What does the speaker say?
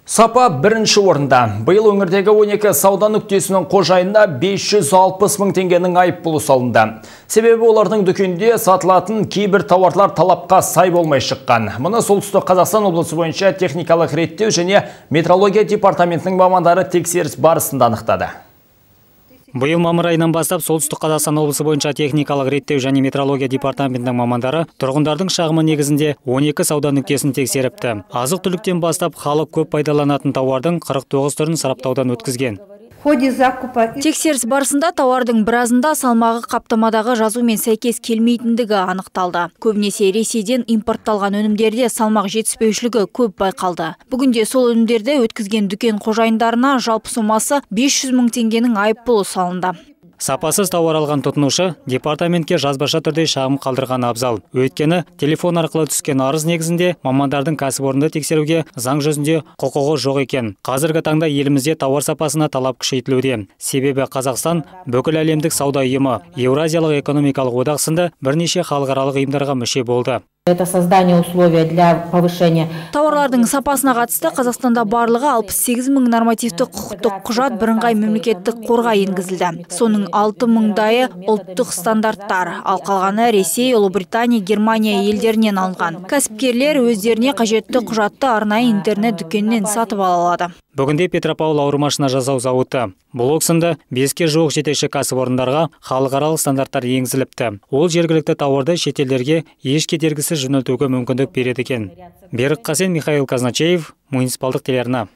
Сапа бірінші орында. Биыл өңірдегі 12 сауда нүктесінің қожайынына 560 мың теңгенің айыппұлы салынды. Себебі олардың дүкенде сатылатын кейбір тауарлар талапқа сай болмай шыққан. Мұны Солтүстік Қазақстан облысы бойынша техникалық реттеу және метрология департаментінің мамандары тексеріс барысында анықтады. Биыл мамыр айынан бастап Солтүстік Қазақстан облысы бойынша техникалық реттеу және метрология департаментінің мамандары тұрғындардың шағымы негізінде 12 сауда нүктесін тексеріпті. Азық-түліктен бастап халық көп пайдаланатын тауардың 49 түрін сараптаудан өткізген. Тексеріс барысында тауардың біразында салмағы қаптамадағы жазумен сәйкес келмейтіндігі анықталды. Көбінесе Ресейден импортталған өнімдерде салмақ жетіспеушілігі көп байқалды. Бүгінде сол өнімдерді өткізген дүкен қожайындарына жалпы сомасы 500 мың теңгенің айыппұлы салынды. Сапасыз тауар алған тұтынушы департаментке жазбаша түрде шағым қалдырған абзал. Өйткені телефон арқылы түскен арыз негізінде мамандардың кәсіпорынды тексеруге заң жүзінде құқығы жоқ екен. Қазіргі таңда елімізде тауар сапасына талап күшейтілуде. Себебі Қазақстан бүкіл әлемдік сауда ұйымы, Еуразиялық экономикалық одақ сынды бірнеше халықаралық ұйымдарға мүше болды. Это создание условий для повышения. Тауарлардың сапасына қатысты Қазақстанда барлығы 68 мың нормативті құқықтық құжат бірыңғай мемлекеттік қорға енгізілді. Соның 6 мыңдайы ұлттық стандарттар, ал қалғаны Ресей, Ұлыбритания, Германия елдерінен алынған. Кәсіпкерлер өздеріне қажетті құжатты арнайы интернет дүкенінен сатып ала алады. Бүгінде Петропавл ауырмашына жасау зауыты блок сынды 5-ке жуық жетекші кәсіпорындарға халықаралық стандарттар енгізіліпті. Ол жергілікті тауарды шетелдерге еш кедергісіз жөнелтуге мүмкіндік береді екен. Берік Қасен, Михаил Казначеев, муниципалдық телеарна.